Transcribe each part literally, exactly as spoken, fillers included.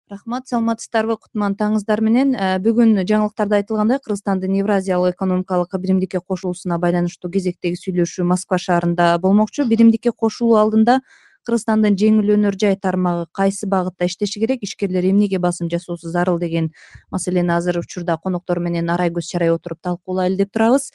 Рахмат, саламатсыздарбы? Кутман таңыңыздар менен. Бүгүн жаңылыктарда айтылгандай, Кыргызстандын Евразиялык экономикалык биримдикке кошулуусуна байланыштуу кезектеги сүйлөшүү Москва шаарында болмокчу. Биримдикке кошулуу алдында Кыргызстандын жеңил өнөр жай тармагы кайсы багытта иштеши керек, ишкерлер эмнеге басым жасоосу зарыл деген маселени азыр учурда коноктор менен арай көз чарай отуруп талкуулайлы деп турабыз.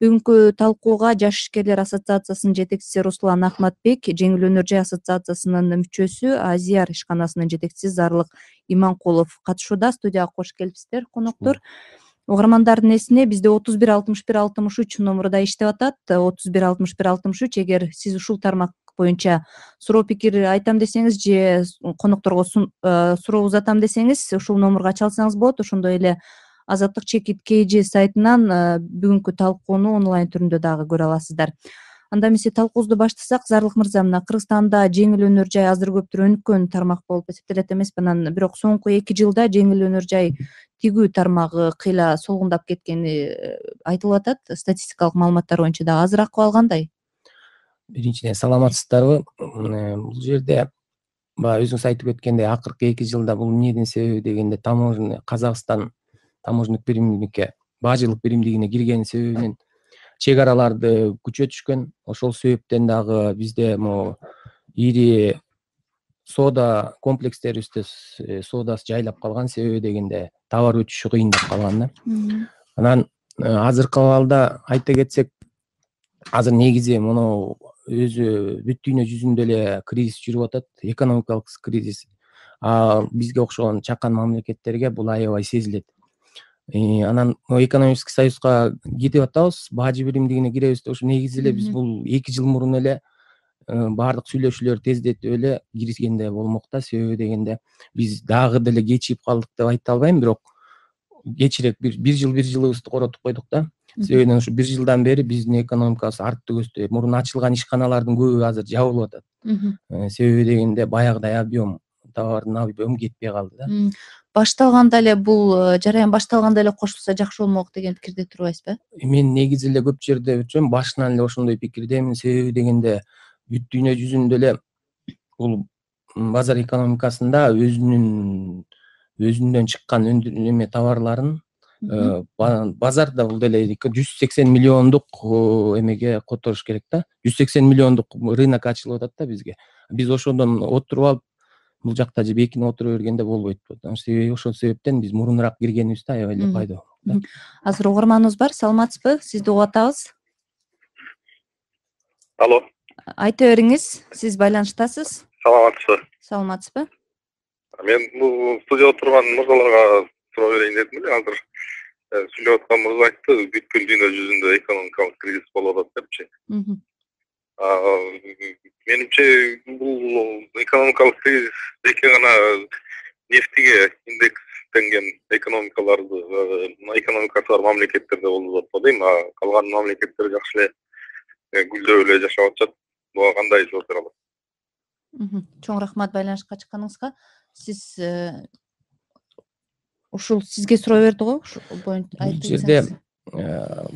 Бүгүнкү талкууга Жаш ишкерлер ассоциациясынын жетекчиси Руслан Ахматбек, Жеңил өнөр жай ассоциациясынын мүчөсү, Азияр ишканасынын жетекчиси Зарлык Иманкулов катышууда. Студияга кош келипсиздер, коноктор. Угармандардын эсине бизде отуз бир алтымыш бир алтымыш үч номуру да иштеп атат. отуз бир алтымыш бир алтымыш үч. Эгер сиз ушул тармак боюнча суроо пикир айтам десеңиз же конокторго суроо узатам десеңиз, ушул номурга чалсаңыз болот. Ошондой эле Азаттык чекит кей же сайтынан бүгүнкү талкууну онлайн түрүндө дагы көрө аласыздар. Анда эмесе талкуубузду баштасак, Зарлык мырза, мына Кыргызстанда жеңил өнөр жай азыр көптүр өнүккөн тармак болуп эсептелет эмеспи? Анан бирок соңку эки жылда жеңил өнөр жай тигүү тармагы кыйла солгундап кеткени айтылып атат. Статистикалык маалыматтар боюнча дагы азыр акыбал кандай? Биринчиден, саламатсыздарбы? Бул жерде баягы өзүңүз айтып өткөндөй, акыркы эки жылда бул эмнедин себеби дегенде, таможня Казакстан таможенник биримдикке, бажылык биримдигине киргенин себебинен чек араларды күчөтүшкөн. Ошол себептен дагы бизде могу ири соода комплекстерибизде соодасы жайлап калган, себеби дегенде товар өтүшү кыйындап калган да. Анан азыркы абалда айта кетсек, азыр негизи муну өзү бүт дүйнө жүзүндө эле кризис жүрүп атат, экономикалык кризис. А бизге окшогон чакан мамлекеттерге бул аябай сезилет. Анан экономический союзга кетип атабыз, бажы биримдигине киребиз деп, ушу негизи эле биз бул эки жыл мурун эле баардык сүйлөшүүлөрдү тездетип эле киргизгенде болмок да. Себеби дегенде биз дагы деле кечигип калдык деп айта албайм, бирок кечирээк бир жыл бир жылыбызды коротуп койдук да. Себебинен ушу бир жылдан бери биздин экономикабыз артты көздөй. Мурун ачылган ишканалардын көбү азыр жабылып атат. Себеби дегенде баягыдай объем, товардын объему кетпей калды да. Башталганда эле бул жараян башталганда эле кошулса жакшы болмок деген пикирде турбайсызбы? Мен негизи эле көп жерде өтсөм, башынан эле ошондой пикирдемин. Себеби дегенде бүт дүйнө жүзүндө эле бул базар экономикасында өзүнүн өзүндөн чыккан эме товарларын базарда бул деле жүз сексен миллиондук эмеге которуш керек да. жүз сексен миллиондук рынок ачылып атат да бизге. Биз ошондон отуруп алып, бул жакта же бекинип отура бергенде болбойт. Себеби ошол себептен биз мурунураак киргенибиз да аябай эле пайда болмок. Азыр угарманыбыз бар, саламатсызбы? Сизди угуп атабыз. Алло. Айта бериңиз, сиз байланыштасыз. Саламатсызбы? Саламатсызбы? Мен бул студияда турган мырзаларга суроо берейин дедим эле. Азыр сүйлөп аткан мырза айтты, бүткүл дүйнө жүзүндө экономикалык кризис болуп атат депчи. Менимче бул экономикалык кризис эки гана нефтиге индекстенген экономикаларды, экономикасы бар мамлекеттерде болуп атат дейм. А калган мамлекеттер жакшы эле гүлдөп эле жашап атышат. Буга кандай жооп бере аласыз? Чоң рахмат байланышка чыкканыңызга. Сиз ушул сизге суроо берди го, ушул боюнча айтып жерде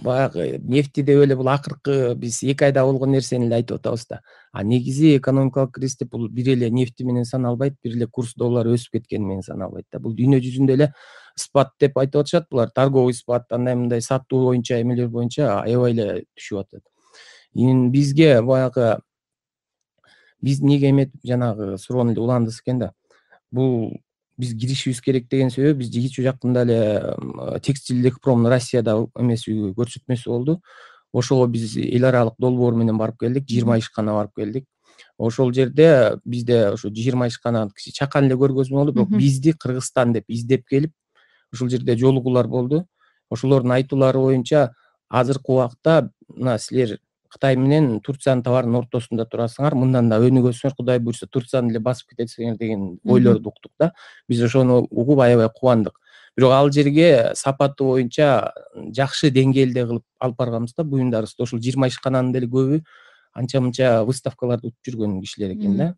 баягы нефти деп эле бул акыркы биз эки айда болгон нерсени эле айтып атабыз да. А негизи экономикалык кризис деп бул бир эле нефти менен саналбайт, бир эле курс доллар өсүп кеткени менен саналбайт да. Бул дүйнө жүзүндө эле спад деп айтып атышат. Булар торговый спад, андай мындай сатуу боюнча эмелер боюнча аябай эле түшүп атат. Бизге баягы биз эмнеге эметип жанагы суроону эле уландырсак экен да. Бул биз киришибиз керек деген себеби, биз кечээ жакында эле текстилдик промдун Россияда эмеси көрсөтмөсү болду. Ошого биз эл аралык долбоор менен барып келдик, жыйырма ишкана барып келдик. Ошол жерде бизде ошо жыйырма ишкананы кичи чакан эле көргөзмө болду, бирок бизди Кыргызстан деп издеп келип, ушул жерде жолугуулар болду. Ошолордун айтуулары боюнча азыркы убакта мына силер Кытай менен Турциянын товарынын ортосунда турасыңар, мындан да өнүгөсүңөр, Кудай буйрса Турцияны эле басып кетесиңер деген ойлорду уктук да. Биз ошону угуп аябай кубандык. Бирок ал жерге сапаты боюнча жакшы деңгээлде кылып алып барганбыз да буюмдарыбызды. Ошол жыйырма ишкананын деле көбү анча-мынча выставкаларда утуп жүргөн кишилер экен да.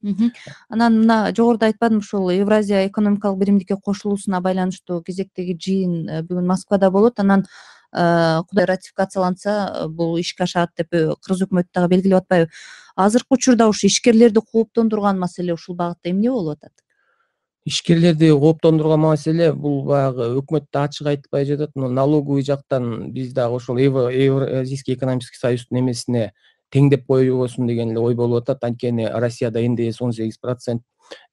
Анан мына жогоруда айтпадымбы, ушул Евразия экономикалык биримдикке кошулуусуна байланыштуу кезектеги жыйын бүгүн Москвада болот. Анан Кудай ратификацияланса бул ишке ашат деп Кыргыз өкмөтү дагы белгилеп атпайбы? Азыркы учурда ушу ишкерлерди кооптондурган маселе ушул багытта эмне болуп атат? Ишкерлерди кооптондурган маселе бул баягы өкмөт да ачык айтпай жатат. Налоговый жактан биз дагы ошол Евразийский экономический союздун эмесине теңдеп коебосун деген эле ой болуп атат. Анткени Россияда эн дэ эс он сегиз процент,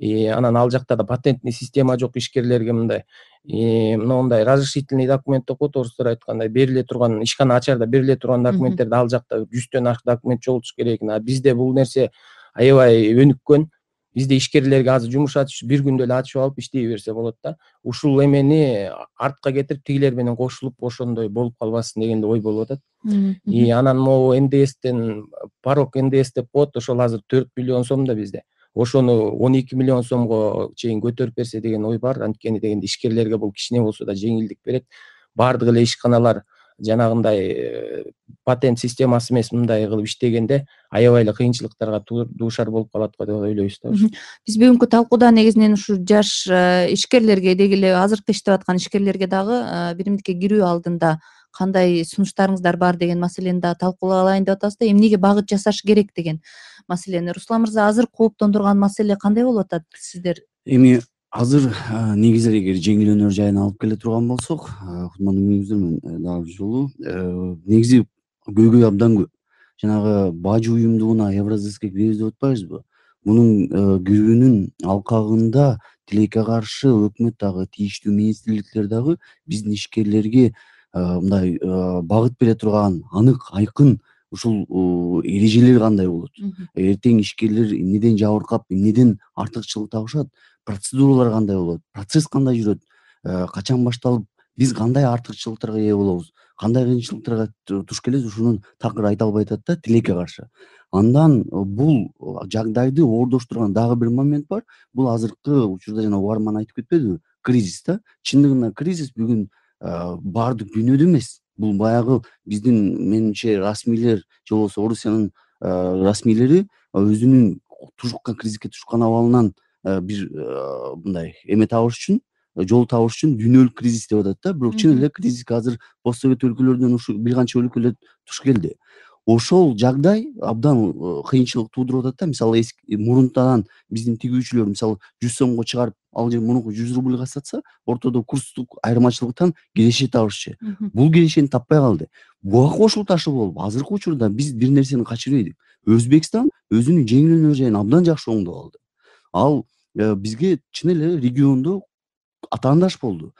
анан ал жакта да патентный система жок ишкерлерге мындай мындай разрешительный документ деп коет орустар айткандай, бериле турган ишкана ачарда бериле турган документтерди ал жакта жүздөн ашык документ жолутуш керек экен. А бизде бул нерсе аябай өнүккөн. Бизде ишкерлерге азыр жумуш ачыш бир күндө эле ачып алып иштей берсе болот да. Ушул эмени артка кетирип тигилер менен кошулуп ошондой болуп калбасын деген ой болуп атат. И анан могу эн дэ эстен порог эн дэ эс деп коет, ошол азыр төрт миллион сом да бизде. Ошону он эки миллион сомго чейин көтөрүп берсе деген ой бар. Анткени дегенде ишкерлерге бул кичине болсо да жеңилдик берет. Бардык эле ишканалар жанагындай патент системасы эмес мындай кылып иштегенде аябай эле кыйынчылыктарга дуушар болуп калат го деп ойлойбуз да. Биз бүгүнкү талкууда негизинен ушу жаш ишкерлерге деги эле азыркы иштеп аткан ишкерлерге дагы биримдикке кирүү алдында кандай сунуштарыңыздар бар деген маселени да талкуулай алайын деп атабыз да. Эмнеге багыт жасаш керек деген маселени. Руслан мырза, азыр кооптондурган маселе кандай болуп атат сиздер? Эми азыр негизи эгер жеңилөөнөр жайына алып келе турган болсок, кутмандуу мүнүздөр менен дагы бир жолу негизи көйгөй абдан көп. Жанагы бажы уюмдугуна Евразийский киребиз деп атпайбызбы? Мунун кирүүнүн алкагында тилекке каршы өкмөт дагы тийиштүү министрликтер дагы биздин ишкерлерге мындай багыт бере турган анык айкын ушул эрежелер кандай болот? Эртең ишкерлер эмнеден жабыркап, эмнеден артыкчылык табышат? Процедуралар кандай болот? Процесс кандай жүрөт? Качан башталып, биз кандай артыкчылыктарга ээ болобуз? Кандай кыйынчылыктарга туш келебиз? Ушуну такыр айта албай атат да тилекке каршы. Андан бул жагдайды оордоштурган дагы бир момент бар. Бул азыркы учурда жана Уарман айтып кетпедиби? Кризис да. Чындыгында кризис бүгүн баардык дүйнөдө эмес. Бул баягы биздин менимче расмийлер же болбосо Орусиянын расмийлери өзүнүн тушуккан кризиске тушкан абалынан бир мындай эме табыш үчүн, жол табыш үчүн дүйнөлүк кризис деп атат да. Бирок чын эле кризиске азыр постсовет өлкөлөрдөн ушу бир канча өлкөлөр туш келди. Ошол жагдай абдан кыйынчылык туудуруп атат да. Мисалы мурунтан биздин тигүүчүлөр мисалы жүз сомго чыгарып, ал жер мурунку жүз рубльга сатса, ортодо курстук айырмачылыктан киреше табышчу. Бул кирешени таппай калды. Буга кошулуп ташыл болуп, азыркы учурда биз бир нерсени качырбай элек. Өзбекстан өзүнүн жеңилөөнөр жайын абдан жакшы оңдоп алды. Ал бизге чын эле региондо атаандаш болду.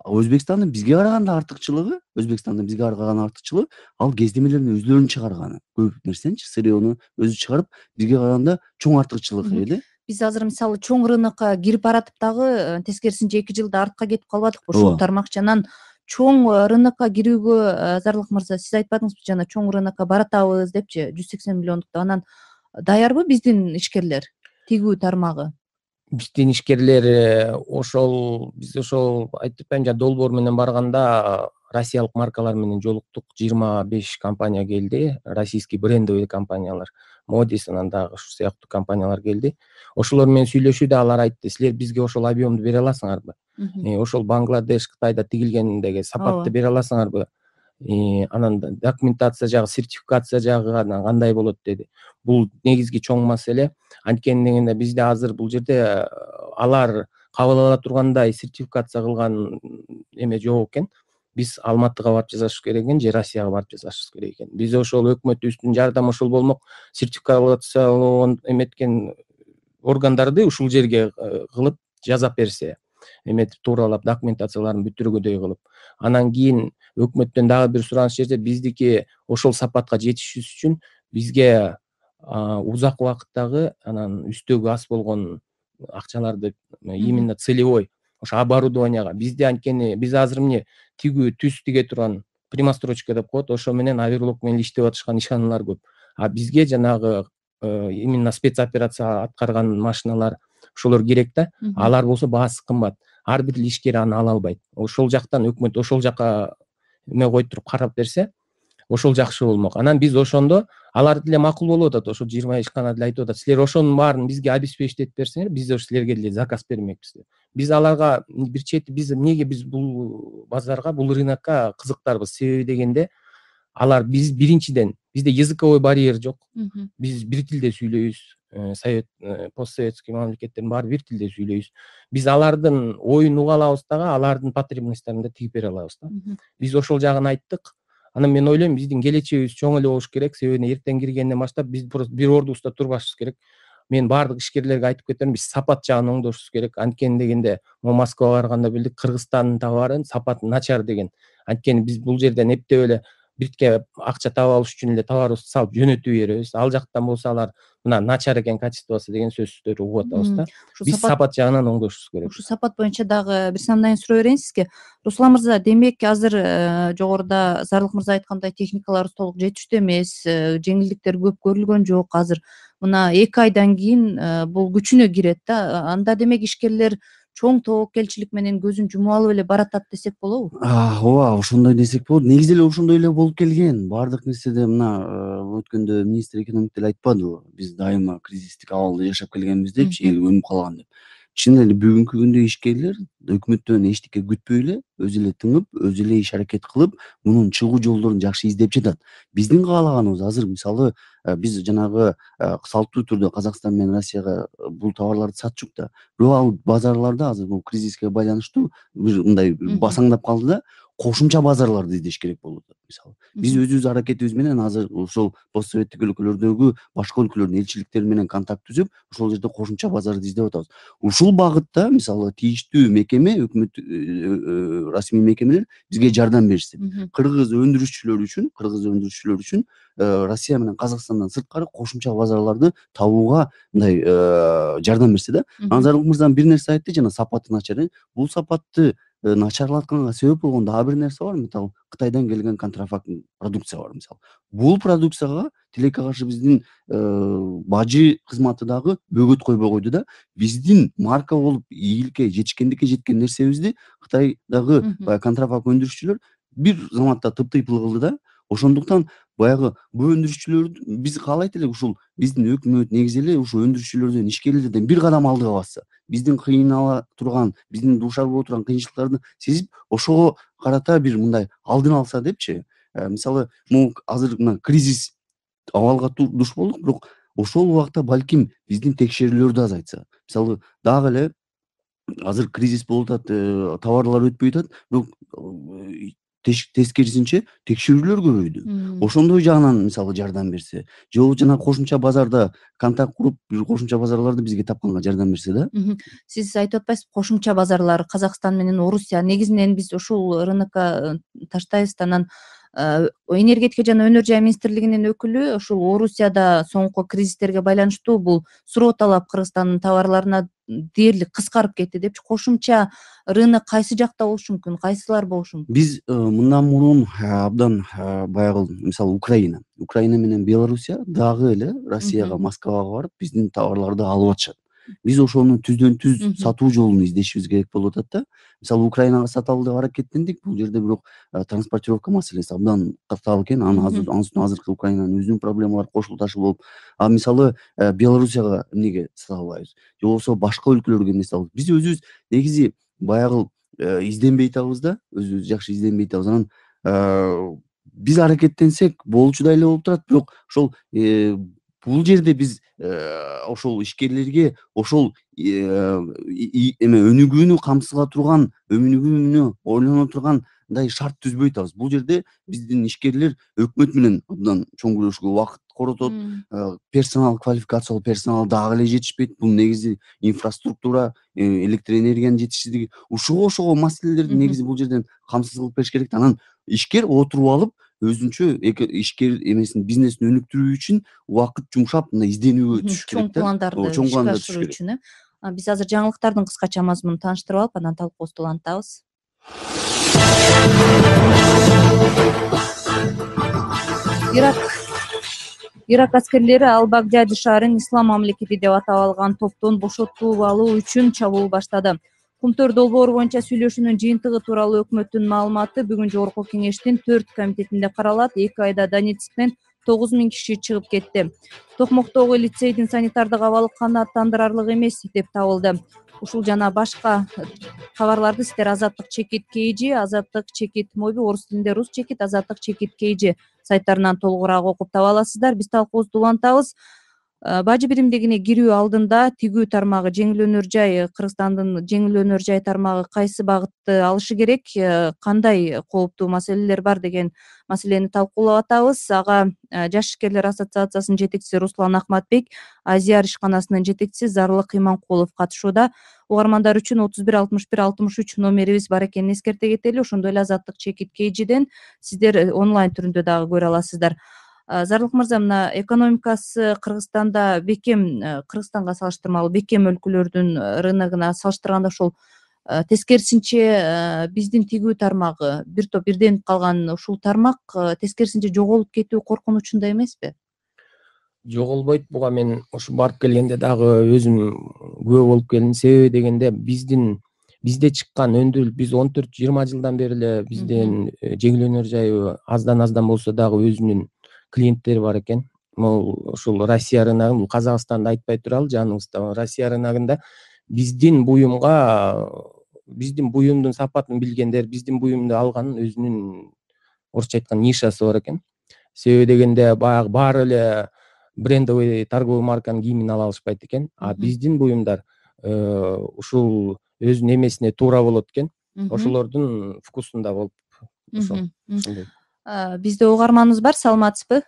Өзбекстандын бизге караганда артыкчылыгы, Өзбекстандын бизге караган артыкчылыгы ал кездемелерин өзлөрүнүн чыгарганы. Көп нерсеничи сырьёну өзү чыгарып, бизге караганда чоң артыкчылык эле. Биз азыр мисалы чоң рынокко кирип баратып дагы тескерисинче эки жылда артка кетип калбадыкпы ушул тармакчанан? Чоң рынокко кирүүгө Зарлык мырза сиз айтпадыңызбы жана чоң рынокко баратабыз депчи, жүз сексен миллиондукту. Анан даярбы биздин ишкерлер тигүү тармагы? Биздин ишкерлер ошол биз ошол айтып атпаймынбы, жана долбоор менен барганда россиялык маркалар менен жолуктук. жыйырма беш компания келди, российский брендовый компаниялар, Модис, анан дагы ушул сыяктуу компаниялар келди. Ошолор менен сүйлөшүүдө алар айтты, силер бизге ошол объемду бере аласыңарбы? Ошол Бангладеш, Кытайда тигилгендеги сапатты бере аласыңарбы? Анан документация жагы, сертификация жагы кандай болот деди. Бул негизги чоң маселе. Анткени дегенде бизде азыр бул жерде алар кабыл ала тургандай сертификация кылган эме жок экен. Биз Алматыга барып жасашыбыз керек экен, же Россияга барып жасашыбыз керек экен. Биз ошол өкмөтүбүздүн жардамы ошол болмок, сертификациялоо эметкен органдарды ушул жерге кылып жазап берсе, эметип тууралап документацияларын бүтүргүдөй кылып. Анан кийин өкмөттөн дагы бир сураныч жерде биздики ошол сапатка жетишибиз үчүн бизге узак убакыттагы анан үстөгү аз болгон акчаларды именно целевой ошо оборудованияга бизде, анткени биз азыр эмне тигүү түз тиге турган примострочка деп коет, ошо менен аверлок менен иштеп атышкан ишканалар көп. А бизге жанагы именно спецоперация аткарган машиналар ошолор керек да. Алар болсо баасы кымбат. Ар бир ишкер аны ала албайт. Ошол жактан өкмөт ошол жака эме коюп туруп карап берсе, ошол жакшы болмок. Анан биз ошондо алар деле макул болуп атат. Ошо жыйырма ишкана деле айтып атат, силер ошонун баарын бизге обеспечить берсеңер, биз ошо силерге деле заказ бермекпиз деп. Биз аларга бир чети биз эмнеге биз бул базарга, бул рынокко кызыктарбыз? Себеби дегенде алар биз биринчиден бизде языковой барьер жок. Биз бир тилде сүйлөйбүз. совет постсоветский мамлекеттердин баары бир тилде сүйлөйбүз. Биз алардын оюн уга алабыз дагы, алардын потребностьтарын да тийип бере алабыз да. Биз ошол жагын айттык. Анан мен ойлойм, биздин келечегибиз чоң эле болуш керек. Себеби эртең киргенден баштап биз просто бир ордубузда турбашыбыз керек. Мен баардык ишкерлерге айтып кетем, биз сапат жагын оңдошубуз керек. Анткени дегенде, могу Москвага барганда билдик, Кыргызстандын товарын сапаты начар деген. Анткени биз бул жерден эптеп эле биртке акча таап алыш үчүн эле товарыбызды салып жөнөтүп беребиз. Ал жактан болсо алар мына начар экен качествосу деген сөздөрдү угуп атабыз да. Биз сапат жагынан оңдошубуз керек. Ушу сапат боюнча дагы бир самдайын суроо берейин сизге. Руслан мырза, демек азыр жогоруда Зарлык мырза айткандай техникаларыбыз толук жетиштүү эмес, жеңилдиктер көп көрүлгөн жок. Азыр мына эки айдан кийин бул күчүнө кирет да. Анда демек ишкерлер чоң тобокелчилик менен көзүн жумуп алып эле баратат десек болобу? Ооба, ошондой десек болот. Негизи эле ошондой эле болуп келген. Баардык нерседе мына өткөндө министр экономика деле айтпадыбы? Биз дайыма кризистик абалда жашап келгенбиз депчи, эл өнүп калган деп. Чын эле бүгүнкү күндө ишкерлер өкмөттөн эчтеке күтпөй эле, өзү эле тыңып, өзү эле иш аракет кылып, мунун чыгуу жолдорун жакшы издеп жатат. Биздин каалаганыбыз азыр мисалы биз жанагы салттуу түрдө Казакстан менен Россияга бул товарларды сатчук да. Бирок ал базарларда азыр бул кризиске байланыштуу бир мындай басаңдап калды да, кошумча базарларды издеш керек болуп атат. Мисалы биз өзүбүз аракетибиз менен азыр ошол постсоветтик өлкөлөрдөгү башка өлкөлөрдүн элчиликтери менен контакт түзүп, ошол жерде кошумча базарды издеп атабыз. Ушул багытта мисалы тийиштүү мекеме, өкмөт расмий мекемелер бизге жардам беришсе, кыргыз өндүрүшчүлөр үчүн, кыргыз өндүрүшчүлөр үчүн Россия менен Казакстандан сырткары кошумча базарларды табууга мындай жардам берсе да. Зарлык мырза бир нерсе айтты, жана сапаты начар. Бул сапатты начарлатканга себеп болгон дагы бир нерсе бар. Мисалы Кытайдан келген контрафакт продукция бар мисалы. Бул продукцияга тилекке каршы биздин бажы кызматы дагы бөгөт койбой койду да. Биздин марка болуп ийгиликке жетишкендикке жеткен нерсебизди Кытайдагы баягы контрафакт өндүрүшчүлөр бир заматта тыптыйпыл кылды да. Ошондуктан баягы бул өндүрүшчүлөр биз каалайт элек ушул биздин өкмөт негизи эле ушул өндүрүшчүлөрдөн, ишкерлерден бир кадам алдыга басса, биздин кыйнала турган, биздин дуушар боло турган кыйынчылыктарды сезип, ошого карата бир мындай алдын алса депчи. Мисалы, могу азыр мына кризис абалга душ болдук, бирок ошол убакта балким биздин текшерүүлөр да азайтса. Мисалы, дагы эле азыр кризис болуп атат, товарлар өтпөй атат, бирок тескерисинче текшерүүлөр көбөйдү. Ошондой жагынан мисалы жардам берсе, же болбосо жана кошумча базарда контакт куруп, бир кошумча базарларды бизге тапканга жардам берсе да. Сиз айтып атпайсызбы, кошумча базарлар Казакстан менен Орусия. Негизинен биз ушул рынокко таштайбыз. Анан энергетика жана өнөр жай министрлигинин өкүлү ушул Орусияда соңку кризистерге байланыштуу бул суроо талап Кыргызстандын товарларына дээрлик кыскарып кетти депчи. Кошумча рынок кайсы жакта болушу мүмкүн, кайсылар болушу мүмкүн? Биз мындан мурун абдан баягы мисалы Украина, Украина менен Белоруссия дагы эле Россияга, Москвага барып биздин товарларды алып атышат. Биз ошону түздөн түз сатуу жолун издешибиз керек болуп атат да. Мисалы Украинага саталы деп аракеттендик. Бул жерде бирок транспортировка маселеси абдан катаал экен. Аны азыр азыркы Украинанын өзүнүн проблемалары кошулуп ташы болуп. А мисалы Белоруссияга эмнеге сата албайбыз? Же болбосо башка өлкөлөргө эмне сата алабыз? Биз өзүбүз негизи баягы изденбей атабыз да, өзүбүз жакшы изденбей атабыз. Анан биз аракеттенсек болчудай эле болуп турат, бирок ошол бул жерде биз ошол ишкерлерге ошол эме өнүгүүнү камсызга турган, өнүгүүнү ойлоно тургандай шарт түзбөй атабыз. Бул жерде биздин ишкерлер өкмөт менен абдан чоң күрөшкө убакыт коротот, персонал, квалификациялуу персонал дагы эле жетишпейт. Бул негизи инфраструктура, электр энергиянын жетишсиздиги. Ушуга ошого маселелерди негизи бул жерден камсыз кылып бериш керек. Анан ишкер отуруп алып өзүнчө ишкер эмесин, бизнесин өнүктүрүү үчүн убакыт жумшап, мындай изденүүгө түшүш керек да. Чоң пландарды ишке ашыруу үчүн. Биз азыр жаңылыктардын кыскача мазмунун тааныштырып алып, анан талкуубузду улантабыз. Ирак Ирак аскерлери Ал-Багдяди шаарын ислам мамлекети деп атап алган топтон бошотуп алуу үчүн чабуул баштады. Кумтөр долбоору боюнча сүйлөшүүнүн жыйынтыгы тууралуу өкмөттүн маалыматы бүгүн жогорку кеңештин төрт комитетинде каралат. Эки айда Донецктен тогуз миң киши чыгып кетти. Токмоктогу лицейдин санитардык абалы канааттандырарлык эмес деп табылды. Ушул жана башка кабарларды сиздер Азаттык чекит kg, Азаттык чекит моби, орус тилинде рус чекит, Азаттык чекит kg сайттарынан толугураак окуп таба аласыздар. Биз талкуубузду улантабыз. бажы биримдигине кирүү алдында тигүү тармагы жеңил өнөр жай Кыргызстандын жеңил өнөр жай тармагы кайсы багытты алышы керек, кандай кооптуу маселелер бар деген маселени талкуулап атабыз. Ага Жаш ишкерлер ассоциациясынын жетекчиси Руслан Акматбек, Азияр ишканасынын жетекчиси Зарлык Иманкулов катышууда. Угармандар үчүн отуз бир алтымыш бир алтымыш үч номерибиз бар экенин эскерте кетели. Ошондой эле Азаттык чекит кейжиден сиздер онлайн түрүндө дагы көрө аласыздар. Зарлык мырза, мына экономикасы Кыргызстанда бекем, Кыргызстанга салыштырмалуу бекем өлкөлөрдүн рыногуна салыштырганда ошол тескерисинче биздин тигүү тармагы бир топ ирденип калган ушул тармак тескерисинче жоголуп кетүү коркунучунда эмеспи? Жоголбойт. Буга мен ушу барып келгенде дагы өзүм күбө болуп келдим. Себеби дегенде биздин бизде чыккан өндүрүлүп биз он төрт жыйырма жылдан бери эле биздин жеңил өнөр жайы аздан аздан болсо дагы өзүнүн клиенттери бар экен. Могул ушул Россия рыногун, бул Казакстанды айтпай туралы, жаныбызда Россия рыногунда биздин буюмга биздин буюмдун сапатын билгендер, биздин буюмду алган өзүнүн орусча айтканда нишасы бар экен. Себеби дегенде баягы баары эле брендовый торговый марканын кийимин ала алышпайт экен. А биздин буюмдар ушул өзүнүн эмесине туура болот экен. Ошолордун вкусунда болуп ошол. Бизде угарманыбыз бар, саламатсызбы?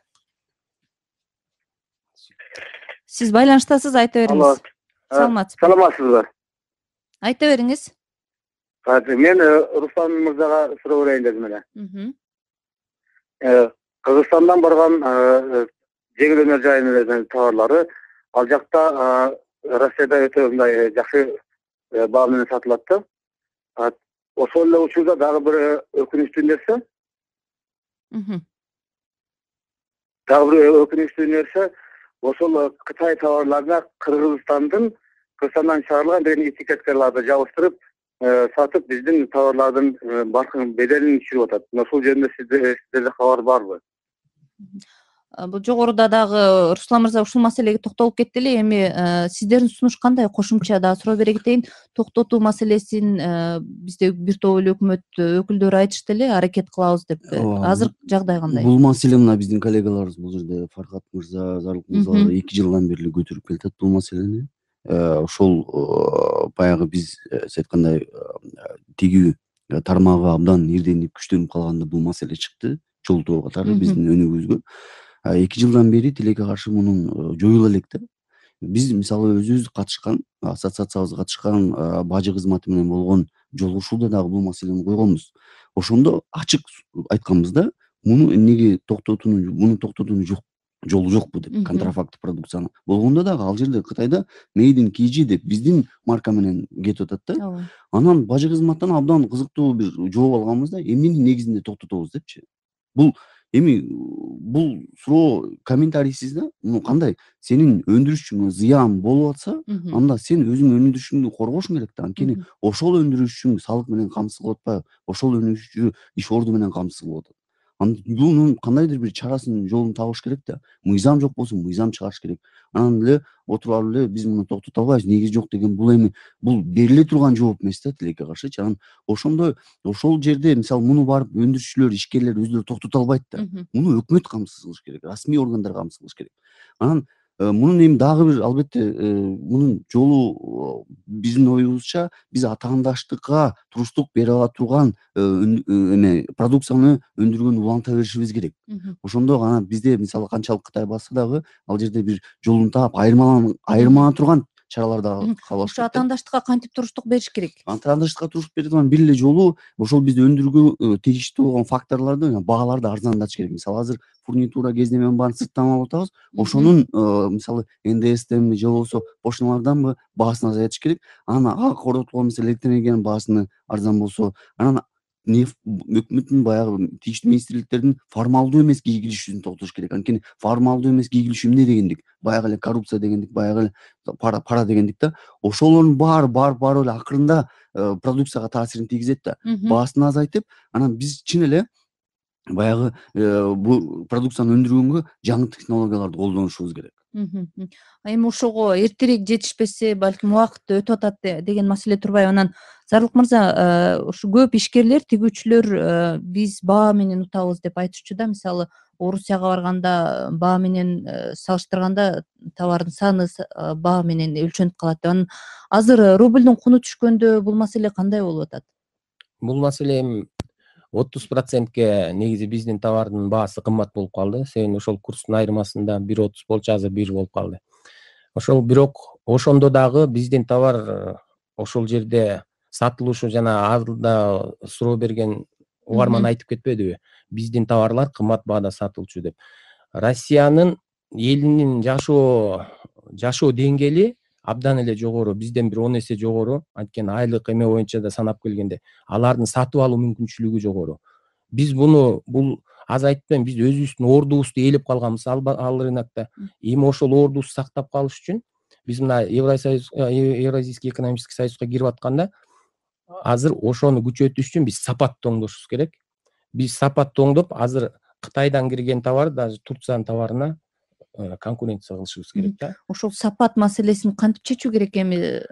Сиз байланыштасыз, айта бериңиз. Саламатсызбы? Саламатсызбы? Айта бериңиз. Мен Руслан мырзага суроо берейин дедим эле. Кыргызстандан барган жеңил өнөр жайынын товарлары ал жакта Россияда өтө мындай жакшы баа менен сатылат да. Ошол эле учурда дагы бир өкүнүчтүү нерсе дагы бир өкүнүчтүү нерсе ошол Кытай товарларына Кыргызстандын Кыргызстандан чыгарылган деген этикеткаларды жабыштырып сатып биздин товарлардын баркын беделин түшүрүп атат. Ошол жөнүндө сиздерде кабар барбы? Бул жогоруда дагы Руслан мырза ушул маселеге токтолуп кетти эле. Эми сиздердин сунуш кандай? Кошумча дагы суроо бере кетейин. Токтотуу маселесин бизде бир топ эле өкмөт өкүлдөрү айтышты эле, аракет кылабыз деп. Азыр жагдай кандай? Бул маселе мына биздин коллегаларыбыз бул жерде Фаркат мырза, Зарлык мырза эки жылдан бери эле көтөрүп келатат бул маселени. Ошол баягы биз сиз айткандай тигүү тармагы абдан ирденип күчтөнүп калганда бул маселе чыкты. Жолтоо катары биздин өнүгүүбүзгө эки жылдан бери тилекке каршы мунун жоюла элек да. Биз мисалы өзүбүз катышкан, ассоциациябыз катышкан бажы кызматы менен болгон жолугушууда дагы бул маселени койгонбуз. Ошондо ачык айтканбыз да, муну эмнеге токтотуунун, муну токтотуунун жок жолу жокпу деп, контрафакт продукцияны. Болгондо дагы ал жерде Кытайда Made in Kg деп биздин марка менен кетип атат да. Анан бажы кызматтан абдан кызыктуу бир жооп алганбыз да, эмненин негизинде токтотобуз депчи. Бул эми бул суроо комментарийсиз да. Муну кандай? Сенин өндүрүшчүңө зыян болуп атса, анда сен өзүңдүн өндүрүшүңдү коргошуң керек да. Анткени ошол өндүрүшчүң салык менен камсыз кылып атпайбы? Ошол өндүрүшчү иш орду менен камсыз кылып атат. Бунун кандайдыр бир чарасын, жолун табыш керек да. Мыйзам жок болсо мыйзам чыгарыш керек. Анан эле отуруп алып эле биз муну токтото албайбыз, негизи жок деген бул эми бул бериле турган жооп эмес да тилекке каршычы. Анан ошондой ошол жерде мисалы муну барып өндүрүшчүлөр, ишкерлер өздөрү токтото албайт да. Муну өкмөт камсыз кылыш керек, расмий органдар камсыз кылыш керек. Анан мунун эми дагы бир албетте мунун жолу биздин оюбузча биз атаандаштыкка туруштук бере ала турган эме продукцияны өндүргөн уланта беришибиз керек. Ошондо гана бизде мисалы канчалык Кытай басса дагы ал жерде бир жолун таап айырмалана турган чаралар дагы кабылыш керек. Ошо атаандаштыкка кантип туруштук бериш керек? Атаандаштыкка туруштук бере турган бир эле жолу ошол бизди өндүрүүгө тийиштүү болгон факторлорду, бааларды арзандатыш керек. Мисалы азыр фурнитура кездеменин баарын сырттан алып атабыз. Ошонун мисалы эн дэ эстенби же болбосо пошталарданбы баасын азайтыш керек. Анан ага коротулган мисалы электроэнергиянын баасыны арзан болсо, анан өкмөттүн баягы тийиштүү министрликтердин формалдуу эмес кийгилишүүсүн токтотуш керек. Анткени формалдуу эмес кийгилишүү эмне дегендик? Баягы эле коррупция дегендик, баягы эле пара пара дегендик да. Ошолордун баары барып барып эле акырында продукцияга таасирин тийгизет да. Баасын азайтып, анан биз чын эле баягы бул продукцияны өндүргөнгө жаңы технологияларды колдонушубуз керек. Эми ошого эртерээк жетишпесе, балким убакыт өтүп атат деген маселе турбайбы? Анан Зарлык мырза, ушу көп ишкерлер, тигүүчүлөр биз баа менен утабыз деп айтышчу да. Мисалы, Орусияга барганда баа менен салыштырганда товардын саны баа менен өлчөнүп калат деп. Анан азыр рублдун куну түшкөндө бул маселе кандай болуп атат? Бул маселе эми отуз процентке негизи биздин товардын баасы кымбат болуп калды. Себеби ошол курстун айырмасында бир отуз болчу, азыр бир болуп калды. Ошол бирок ошондо дагы биздин товар ошол жерде сатылышы жана алда суроо берген угарман айтып кетпедиби? Биздин товарлар кымбат баада сатылчу деп. Россиянын элинин жашоо жашоо деңгээли абдан эле жогору, бизден бир он эсе жогору. Анткени айлык эме боюнча да санап келгенде алардын сатып алуу мүмкүнчүлүгү жогору. Биз буну бул аз айтпайм, биз өзүбүздүн ордубузду ээлеп калганбыз ал рынокто. Эми ошол ордубузду сактап калыш үчүн биз мына Евросоюз, Евразийский экономический союзга кирип атканда азыр ошону күчөтүш үчүн биз сапатты оңдошубуз керек. Биз сапатты оңдоп, азыр Кытайдан кирген товар, даже Турциянын товарына конкуренция кылышыбыз керек да. Ошол сапат маселесин кантип чечүү керек эми?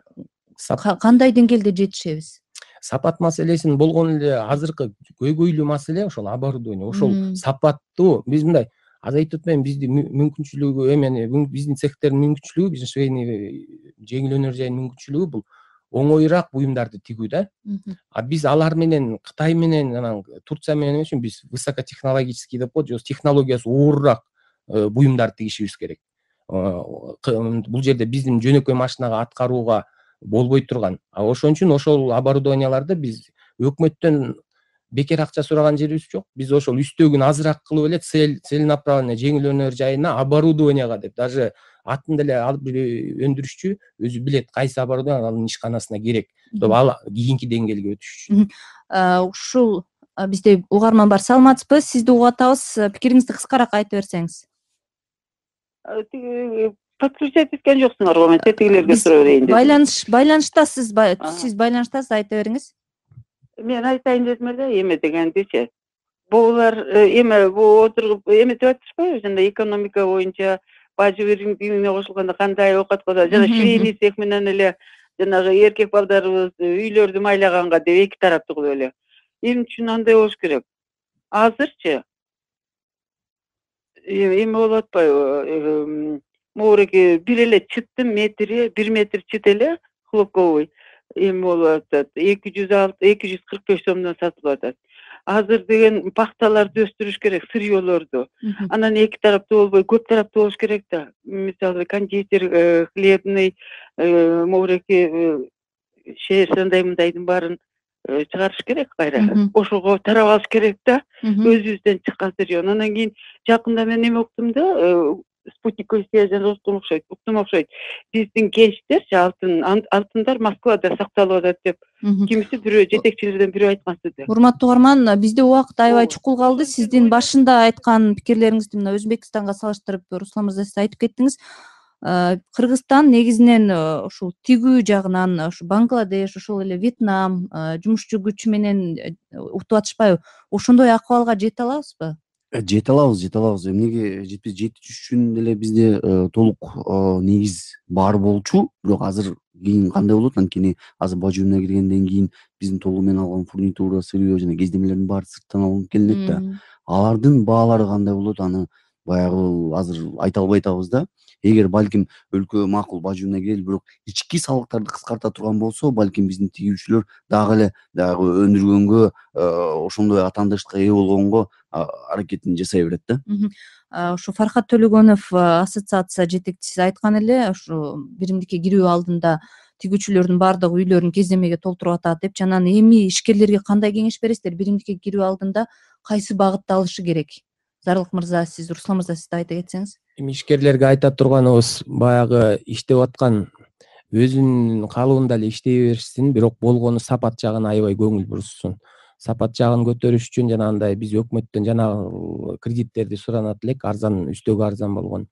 Кандай деңгээлде жетишебиз? Сапат маселесин болгон эле азыркы көйгөйлүү маселе ошол оборудование. Ошол сапаттуу биз мындай аз айтып атпайм, биздин мүмкүнчүлүгү эмени биздин цехтердин мүмкүнчүлүгү, биздин швейный жеңил өнөр жайынын мүмкүнчүлүгү бул оңоюраак буюмдарды тигүү да. А биз алар менен Кытай менен анан Турция менен эмес үчүн биз высокотехнологический деп коет, же технологиясы оорураак буюмдарды тигишибиз керек. Бул жерде биздин жөнөкөй машинага аткарууга болбой турган. А ошон үчүн ошол оборудованияларды биз өкмөттөн бекер акча сураган жерибиз жок. Биз ошол үстөгүн азыраак кылып эле целенаправленный жеңил өнөр жайына оборудованияга деп, даже атын деле алып өндүрүшчү өзү билет кайсы оборудование анын ишканасына керек деп ал кийинки деңгээлге өтүш үчүн. Ушул бизде угарман бар. Саламатсызбы? Сизди угуп атабыз. Пикириңизди кыскараак айтып берсеңиз. Подключать эткен жоксуңарбы? Мен тетигилерге суроо берейин дедим. Байланыш байланыштасыз, сиз байланыштасыз, айта бериңиз. Мен айтайын дедим эле эме дегендичи. Булар эме бу отуруп эме деп атышпайбы? Жана экономика боюнча бажы биримине кошулганда кандай оокат кылат, жана швейный цех менен эле жанагы эркек балдарыбыз үйлөрдү майлаганга деп эки тараптуу кылып эле. Эмне үчүн андай болуш керек? Азырчы эме болуп атпайбы? Моуреке бир эле чыттын метри, бир метр чыт эле хлопковый эме болуп атат. эки жүз алты, эки жүз кырк беш сомдон сатылып атат. Азыр деген пахталарды өстүрүш керек, сырьёлорду. Анан эки тараптуу болбой, көп тараптуу болуш керек да. Мисалы кондитер, хлебный, моуреке шеерсандай мындайдын баарын чыгарыш керек кайра. Ошого тарап алыш керек да. Өзүбүздөн чыккан сырьё. Анан кийин жакында мен эме уктум да, спутниковый связь уктум окшойт, уктум окшойт. Биздин кенчтерчи алтын алтындар Москвада сакталып атат деп кимиси бирөө жетекчилерден бирөө айткан сөзү. Урматтуу угарман, бизде убакыт аябай чукул калды. Сиздин башында айткан пикирлериңизди мына Өзбекстанга салыштырып, Руслан мырза сиз айтып кеттиңиз. Кыргызстан негизинен ушул тигүү жагынан, ушу Бангладеш, ошол эле Вьетнам жумушчу күчү менен утуп атышпайбы? Ошондой акыбалга жете алабызбы? Жете алабыз, жете алабыз. Эмнеге жетпей жетиш үчүн деле бизде толук негиз бар болчу, бирок азыр кийин кандай болот? Анткени азыр бажы уюмуна киргенден кийин биздин толугу менен алган фурнитура, сырьё жана кездемелердин баары сырттан алынып келинет да. Алардын баалары кандай болот? Аны баягы азыр айта албай атабыз да. Эгер балким өлкө макул бажы уюмуна кирели, бирок ички салыктарды кыскарта турган болсо, балким биздин тигүүчүлөр дагы эле дагы өндүргөнгө, ошондой атаандычка ээ болгонго аракетин жасай берет да. Ушу Фархат Төлөгөнов ассоциация жетекчиси айткан эле, ушу биримдикке кирүү алдында тигүүчүлөрдүн баардыгы үйлөрүн кездемеге толтуруп атат деп. Анан эми ишкерлерге кандай кеңеш бересиздер? Биримдикке кирүү алдында кайсы багытты алышы керек? Зарлык мырза, сиз, Руслан мырза, сиз да айта кетсеңиз. Эми ишкерлерге айта турганыбыз, баягы иштеп аткан өзүнүн калыбында эле иштей беришсин, бирок болгону сапат жагына аябай көңүл бурушсун. Сапат жагын көтөрүш үчүн жанагындай биз өкмөттөн жана кредиттерди суранат элек, арзан, үстөгү арзан болгон.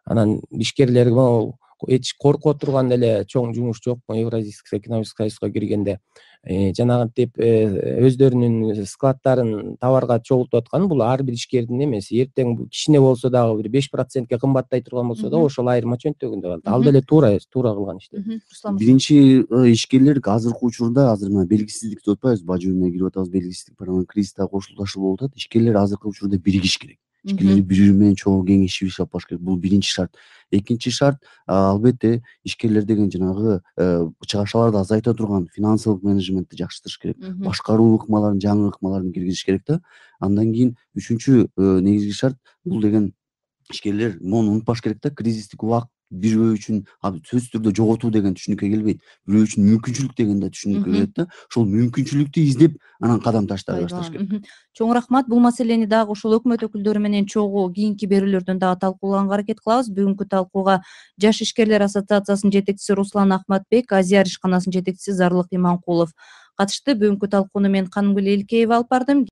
Анан ишкерлерге эч корко турган эле чоң жумуш жок. Евразийский экономический союзга киргенде жанагынтип өздөрүнүн складдарын товарга чогултуп аткан, бул ар бир ишкердин эмеси. Эртең кичине болсо дагы бир беш процентке кымбаттай турган болсо да, ошол айырма чөнтөгүндө калат. Ал деле туура, туура кылган иштер. Биринчи ишкерлер азыркы учурда, азыр мына белгисиздик деп атпайбыз, бажы уюмуна кирип атабыз, белгисиздик бар, анан кризисте кошулташуу болуп атат. Ишкерлер азыркы учурда биригиш керек. ишкерлер бири бири менен чогуу кеңешип иш алып барыш керек. Бул биринчи шарт. Экинчи шарт албетте ишкерлер деген жанагы чыгашаларды азайта турган финансылык менеджментти жакшыртыш керек. Башкаруу ыкмаларын, жаңы ыкмаларын киргизиш керек да. Андан кийин үчүнчү негизги шарт бул деген ишкерлер мону унутпаш керек да. Кризистик убакыт бирөө үчүн сөзсүз түрдө жоготуу деген түшүнүккө келбейт. Бирөө үчүн мүмкүнчүлүк деген да түшүнүккө келет да. Ошол мүмкүнчүлүктү издеп анан кадам таштай башташ керек. Чоң рахмат. Бул маселени дагы ошол өкмөт өкүлдөрү менен чогуу кийинки берүүлөрдөн дагы талкуулаганга аракет кылабыз. Бүгүнкү талкууга Жаш ишкерлер ассоциациясынын жетекчиси Руслан Ахматбек, Азияр ишканасынын жетекчиси Зарлык Иманкулов катышты. Бүгүнкү талкууну мен Канымгүл Элкеева алып бардым.